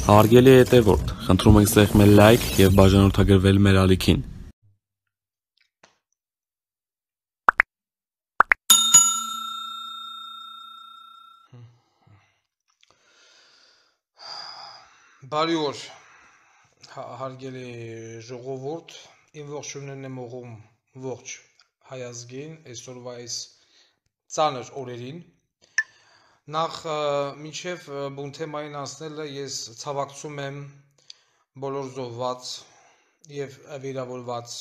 Հարգելի հետևորդ, խնդրում ենք սեղմել լայք և բաժանորդագրվել մեր ալիքին։ Բարի օր, հարգելի ժողովուրդ, իմ ողջույնն եմ ուղղում ողջ հայ ազգին այսօրվա այս ծանր օրերին։ Նախ մինչև բուն թեմային անցնելը ես ցավակցում եմ բոլոր զոհված և վիրավորված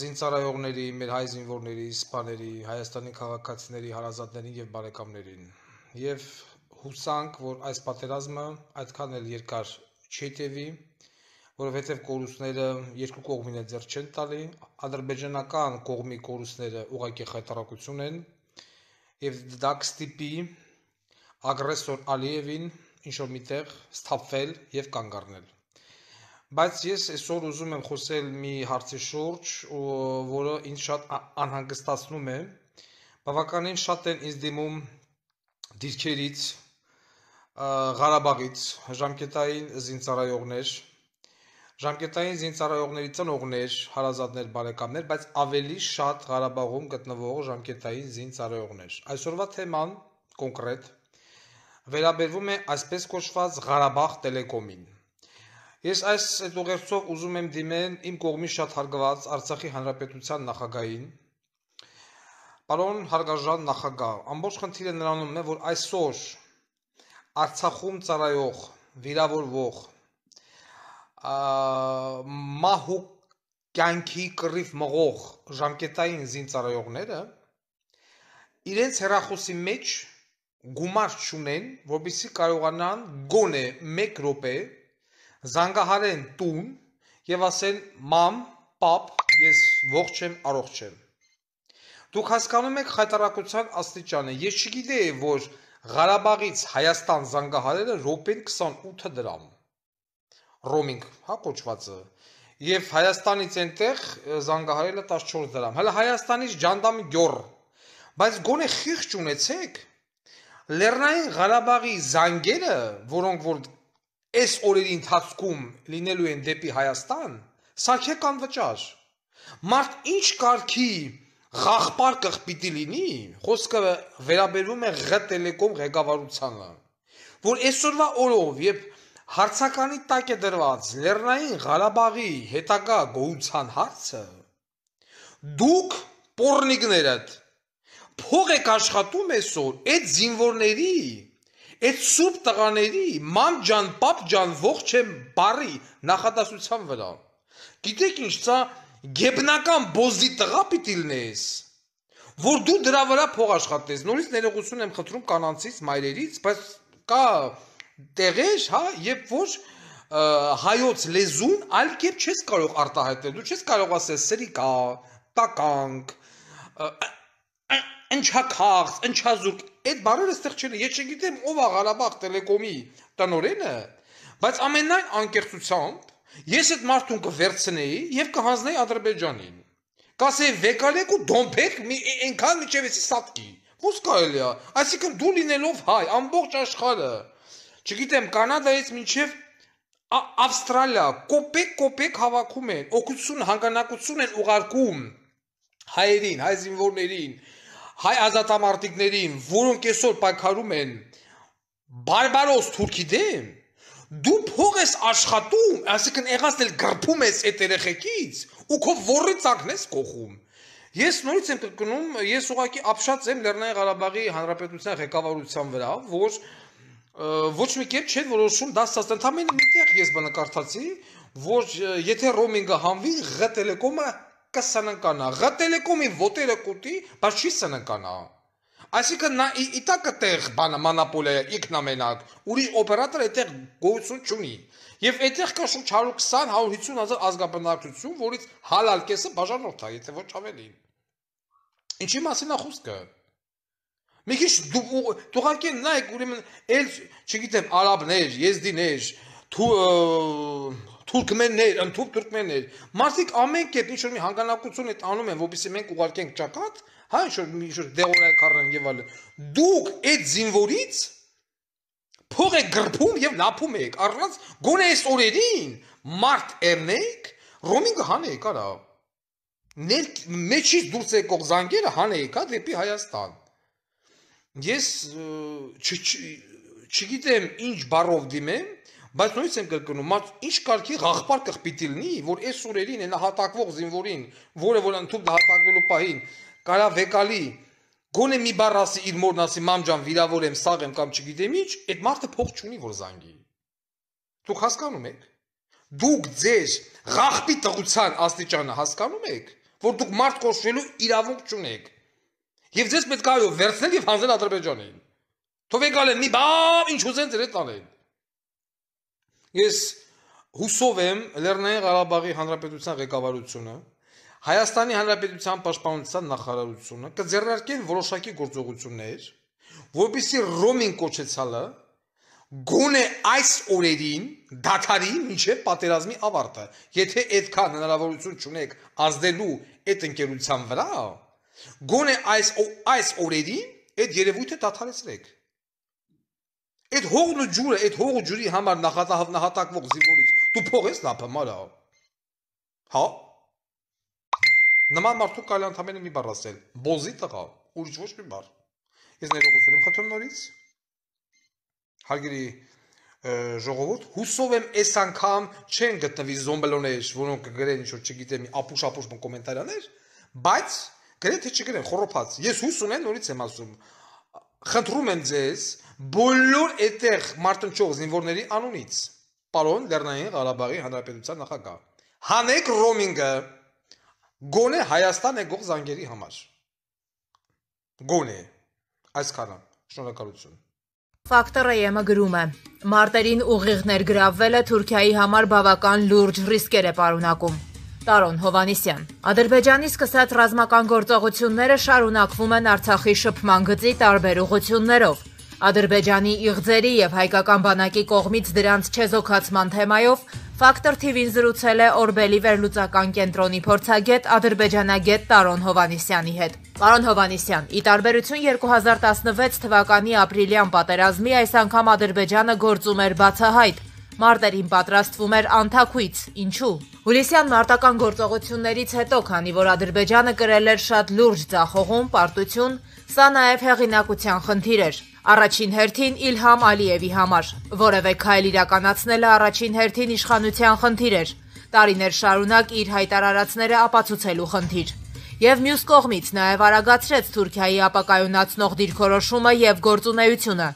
զինծառայողների, մեր հայ զինվորների, սպաների, Հայաստանի քաղաքացիների, հարազատներին և բարեկամներին։ Եվ հուսանք, որ այս պատերազմը այդքան էլ երկար չի տևի, որովհետև կորուստները երկու կողմին էլ ձեռք չեն տալի, ադրբեջանական կողմի կորուստները ուղղակի խայտառակություն են, և դա կստիպի ագրեսոր Ալիևին ինչ-որ միտեղ սթափվել և կանգ առնել։ Բայց ես այսօր ուզում եմ խոսել մի հարցի շուրջ, որը ինձ շատ անհանգստացնում է։ Բավականին շատ են ինձ դիմում դիրքերից, Ղարաբաղից ժամկետային զինծառայողներ, ժամկետային զինծառայողների ծնողներ, հարազատներ, բարեկամներ, բայց ավելի շատ Ղարաբաղում գտնվող ժամկետային զինծառայողներ։ Այսօրվա թեման կոնկրետ վերաբերվում է այսպես կոչված Ղարաբաղ տելեկոմին։ Ես այս ուղերձով ուզում եմ դիմել իմ կողմի շատ հարգված Արցախի Հանրապետության նախագահին։ Պարոն հարգարժան նախագահ, ամբողջ խնդիրը նրանում է, որ այսօր Արցախում ծառայող, վիրավորվող, մահ ու կյանքի կռիվ մղող ժամկետային զինծառայողները իրենց հեռախոսի մեջ գումար չունեն, որպեսզի կարողանան գոնե 1 րոպե զանգահարեն տուն և ասեն մամ, պապ, ես ողջ եմ, առողջ եմ։ Դուք հասկանում եք խայտառակության աստիճանը։ Ես չգիտեի, որ Ղարաբաղից Հայաստան զանգահարելը րոպեն 28 դրամ, ռոմինգ, կոչվածը, և Հայաստանից այնտեղ զանգահարելը 14 դրամ, հələ Հայաստանից Ջանդամի գյուղ, բայց գոնե խիղճ ունեցեք, Լեռնային Ղարաբաղի զանգերը, որոնք որ այս օրերի ընթացքում լինելու են դեպի Հայաստան, սարքեք անվճար։ Մարդ ինչ կարգի ղախպար պիտի լինի, խոսքը վերաբերվում է Ղ տելեկոմ ղեկավարությանը, որ այսօրվա օրով, երբ հարցականի տակ է դրված Լեռնային Ղարաբաղի հետագա գոյության հարցը, դուք պոռնիկներդ փող եք աշխատում այսօր այդ զինվորների, այդ սուրբ տղաների, մամ ջան, պապ ջան, ողջ եմ բարի նախադասության վրա։ Գիտեք ինչ, սա գեբնական բոզի տղա պիտի լինես, որ դու դրա վրա փող աշխատես։ Նորից ներողություն եմ խնդրում կանանցից, մայրերից, բայց կա տեղեր, երբ որ հայոց լեզուն այլ կերպ չես կարող արտահայտել, դու չես կարող ասել սրիկա, տականք, ընչաքաղց, ընչազուրկ, այդ բառերը ստեղ չեն։ Ես չգիտեմ ով է Ղարաբաղ տելեկոմի տնօրենը, բայց ամենայն անկեղծությամբ ես այդ մարդուն կվերցնեի և կհանձնեի Ադրբեջանին։ Կասեի վեկալեք ու դոմփեք այնքան մինչև էսի սատկի։ Ո՞ւս կարելի է։ Այսինքն դու լինելով հայ, ամբողջ աշխարհը, չգիտեմ, Կանադայից մինչև Ավստրալիա, կոպեկ հավաքում են, օգնություն, հանգանակություն են ուղարկում հայերին, հայ զինվորներին, հայ ազատամարտիկներին, որոնք այսօր պայքարում են բարբարոս թուրքի դեմ, դու փող ես աշխատում, այսինքն եղած էլ գրփում ես այդ երեխեքից ու քո ворի ծակն ես կողում։ Ես նորից եմ կրկնում, ես ուղղակի ապշած եմ Լեռնային Ղարաբաղի Հանրապետության ղեկավարության վրա, որ ոչ մի կերպ չեն որոշում դա ստացնել։ Ընդամենը միտեղ ես բնակարդացի, որ եթե ռոմինգը հանվի, Ղ տելեկոմը կսննկանա, Ղ տելեկոմի ոտերը կուտի, բայց չի սննկանա։ Այսինքն նա իտա կտեղ բանը մոնոպոլիա ինքնամենակ, ուրիշ օպերատոր այդտեղ գոյություն չունի։ Եվ այդտեղ կա շուրջ 120-150 հազար ազգաբնակչություն, որից հալալ կեսը բաժանորդ է, եթե ոչ ավելի։ Ինչի մասին է խոսքը։ Մի քիչ դուղակի նայեք, ուրեմն էլ, չգիտեմ, արաբներ, եզդիներ, թուրքմեններ, ընդհուպ թուրքմեններ, մարդիկ ամեն կերպ ինչ-որ մի հանգանակություն այդ անում են, որպեսզի մենք ուղարկենք ճակատ, ինչ-որ դեղորայք առնեն եւ այլն։ Դուք այդ զինվորից փող եք գրփում եւ լափում եք, առանց գոնե այս օրերին մարդ եռնեք, ռոմինգը հանեք, արա։ Մեջից դուրս եկող զանգերը հանեք, դեպի Հայաստան։ Ես չգիտեմ ինչ բառով դիմեմ, բայց նույնիսկ եմ կրկնում, ինչ կարգի ղաղբար կխպիտի լինի, որ այս օրերին այն հատակվող զինվորին, որը որ ընդհանուր հատակվելու պահին կարա վեկալի, գոնե մի բառ ասի իր մորն ասի մամ ջան վիրավոր եմ, սաղ եմ կամ չգիտեմ ինչ, այդ մարդը փող չունի որ զանգի։ Դուք հասկանում եք։ Դուք ձեր ղաղբի տղության աստիճանը հասկանում եք, որ դուք մարդ կոչվելու իրավունք չունեք։ Եվ ձեզ պետք է վերցնել եւ հանձնել Ադրբեջանին։ Թող եկալեն մի բան ինչ ուզեն ձեր հետ անեն։ Ես հուսով եմ Լեռնային Ղարաբաղի Հանրապետության ղեկավարությունը, Հայաստանի Հանրապետության Պաշտպանության նախարարությունը կձեռնարկեն որոշակի գործողություններ, որպեսզի ռոմինգ կոչեցալը գոնե այս օրերին դադարի մինչև պատերազմի ավարտը։ Եթե այդքան հնարավորություն չունեք ազդելու այդ ընկերության վրա, գոնե այս օրերին այդ երևույթը դադարեցրեք։ Այդ հողն ու ջուրը, այդ հող ու ջուրի համար նահատակվող զինվորից դու փող ես լափում, արա։ Հա։ Նման մարդու կարելի ընդամենը մի բառ ասել, բոզի տղա, ուրիշ ոչ մի բառ։ Ես ներողություն եմ խնդրում նորից։ Հարգելի ժողովուրդ, հուսով եմ այս անգամ չեն գտնվի զոմբելոներ, որոնք կգրեն ինչ-որ չգիտեմ, ապուշ կոմենտարներ, բայց գրեթե չգրեն, խոռոփած։ Ես հույս ունեմ, նորից եմ ասում, խնդրում եմ ձեզ բոլոր այդտեղ մարտնչող զինվորների անունից, պարոն Լեռնային Ղարաբաղի Հանրապետության նախագահ, հանեք ռոմինգը գոնե Հայաստան եկող զանգերի համար։ Գոնե այսքանը, շնորհակալություն։ Ֆակտոր-ը գրում է. Մարտերին ուղիղներ գրավվելը Թուրքիայի համար բավական լուրջ ռիսկեր է պարունակում։ Տարոն Հովանիսյան. Ադրբեջանի սկսած ռազմական գործողությունները շարունակվում են Արցախի շփման գծի տարբեր ուղղություններով։ Ադրբեջանի իղձերի եւ հայկական բանակի կողմից դրանց չեզոքացման թեմայով Ֆակտոր TV-ին զրուցել է Օրբելի վերլուծական կենտրոնի փորձագետ ադրբեջանագետ Տարոն Հովանիսյանի հետ։ Պարոն Հովանիսյան, ի տարբերություն 2016 թվականի ապրիլյան պատերազմի, այս անգամ Ադրբեջանը գործում էր բացահայտ։ Մարտերին պատրաստվում էր անթաքույց, ինչու։ Հուլիսյան մարտական գործողություններից հետո, քանի որ Ադրբեջանը կրել էր շատ լուրջ ձախողում, պարտություն, սա նաև հեղինակության խնդիր էր։ Առաջին հերթին Իլհամ Ալիևի համար, որևէ քայլ իրականացնելը առաջին հերթին իշխանության խնդիր էր, տարիներ շարունակ իր հայտարարածները ապացուցելու խնդիր։ Եվ մյուս կողմից նաև արագացրեց Թուրքիայի ապակայունացնող դիրքորոշումը եւ գործունեությունը,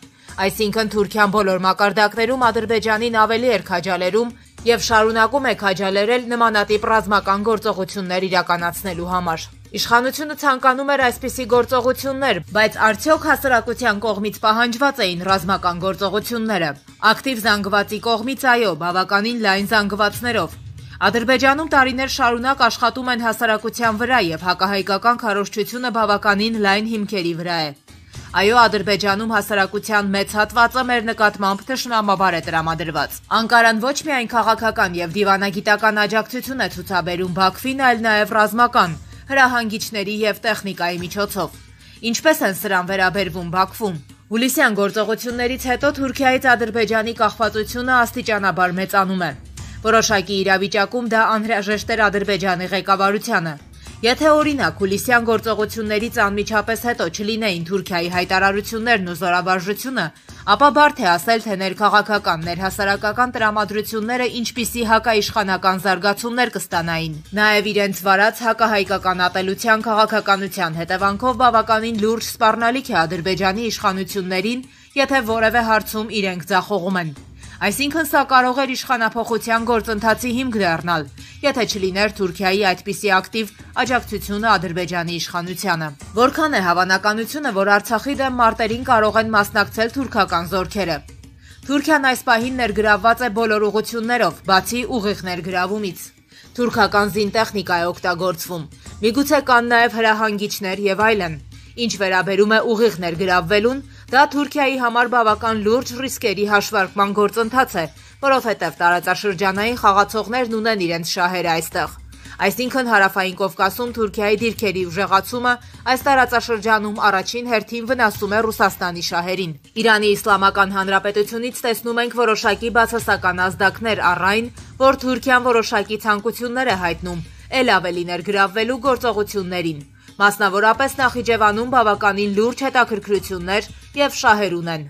այսինքն Թուրքիան բոլոր մակարդակներում Ադրբեջանին ավելի էր քաջալերում եւ շարունակում է քաջալերել նմանատիպ ռազմական գործողություններ իրականացնելու համար։ Իշխանությունը ցանկանում էր այսպիսի գործողություններ, բայց արդյոք հասարակության կողմից պահանջված էին ռազմական գործողությունները։ Ակտիվ զանգվածի կողմից այո, բավականին լայն զանգվածներով։ Ադրբեջանում տարիներ շարունակ աշխատում են հասարակության վրա եւ հակահայկական քարոզչությունը բավականին լայն հիմքերի վրա է։ Այո, Ադրբեջանում հասարակության մեծ հատվածը մեր նկատմամբ թշնամաբար է տրամադրված։ Անկարան ոչ միայն քաղաքական եւ դիվանագիտական աջակցություն է ցուցաբերում Բաքվին, այլ նաեւ ռազմական, հրահանգիչների եւ տեխնիկայի միջոցով։ Ինչպես են սրան վերաբերվում Բաքվում։ Հուլիսյան գործողություններից հետո Թուրքիայից Ադրբեջանի կախվածությունը աստիճանաբար մեծանում է։ Որոշակի իրավիճակում դա անհրաժեշտ էր Ադրբեջանի ղեկավարությանը։ Եթե օրինակ հուլիսյան գործողություններից անմիջապես հետո չլինեին Թուրքիայի հայտարարություններն ու զորավարժությունը, ապա բարդ է ասել, թե ներքաղաքական, ներհասարակական տրամադրությունները ինչպիսի հակաիշխանական զարգացումներ կստանային։ Նաև իրենց վարած հակահայկական ատելության քաղաքականության հետևանքով բավականին լուրջ սպառնալիք է Ադրբեջանի իշխանություններին, եթե որևէ հարցում իրենք ձախողում են։ Այսինքն սա կարող էր իշխանափոխության գործընթացի հիմք դառնալ, եթե չլիներ Թուրքիայի այդպիսի ակտիվ աջակցությունը Ադրբեջանի իշխանությանը։ Որքան է հավանականությունը, որ Արցախի դեմ մարտերին կարող են մասնակցել թուրքական զորքերը։ Թուրքիան այս պահին ներգրավված է բոլոր ուղղություններով, բացի ուղիղ ներգրավումից։ Թուրքական զինտեխնիկա է օգտագործվում։ Միգուցե կան նաև հրահանգիչներ եւ այլն։ Ինչ վերաբերում է ուղիղ ներգրավվելուն, դա Թուրքիայի համար բավական լուրջ ռիսկերի հաշվարկման գործընթաց է, որովհետև տարածաշրջանային խաղացողներն ունեն իրենց շահերը այստեղ։ Այսինքն հարավային Կովկասում Թուրքիայի դիրքերի ուժեղացումը այս տարածաշրջանում առաջին հերթին վնասում է Ռուսաստանի շահերին։ Իրանի Իսլամական Հանրապետությունից տեսնում ենք որոշակի բացասական ազդակներ առ այն, որ Թուրքիան որոշակի ցանկություններ է հայտնում էլ ավելի ներգրավվելու գործողություններին։ Մասնավորապես Նախիջևանում բավականին լուրջ հետաքրքրություններ եւ շահեր ունեն։